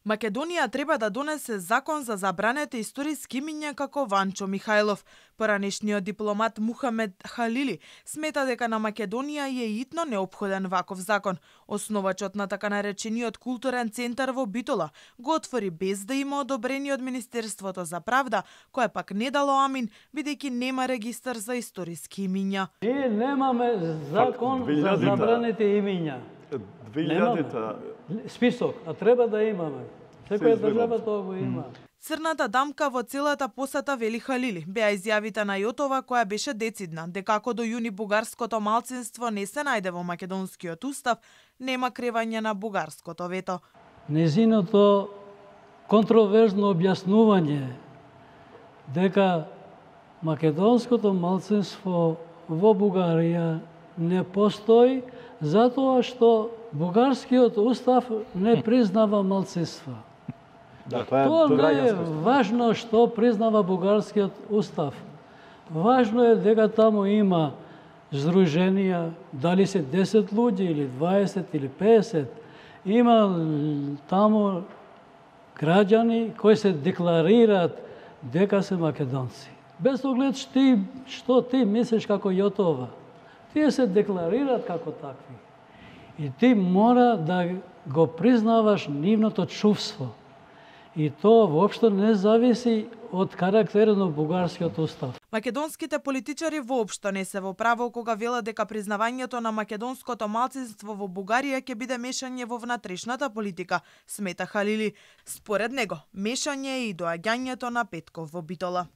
Македонија треба да донесе закон за забранете историски имиња како Ванчо Михајлов. Поранешниот дипломат Мухамед Халили смета дека на Македонија е итно неопходен ваков закон. Основачот на така наречениот културен центар во Битола го отвори без да има одобрение од Министерството за правда, кое пак не дало амин, бидејќи нема регистар за историски имиња. Ние немаме закон за забранете имиња. 2000-та список, а треба да имаме. Секоја држава тоа го има. Црната дамка во целата посета, вели Халили, беа изјавите на Јотова која беше децидна, дека ако до јуни бугарското малцинство не се најде во македонскиот устав, нема кревање на бугарското вето. Незиното контроверзно објаснување дека македонското малцинство во Бугарија не постои затоа што бугарскиот устав не признава малцинства. Тоа не е важно што признава бугарскиот устав. Важно е дека таму има здруженија, дали се 10 луѓе или 20 или 50, има таму граѓани кои се декларираат дека се македонци. Без оглед што ти мислиш како Јотова, тие се декларираат како такви. И ти мора да го признаваш нивното чувство. И тоа воопшто не зависи од карактерот на бугарскиот устав. Македонските политичари воопшто не се во право кога велат дека признавањето на македонското малцинство во Бугарија ќе биде мешање во внатрешната политика, смета Халили. Според него, мешање е и доаѓањето на Петков во Битола.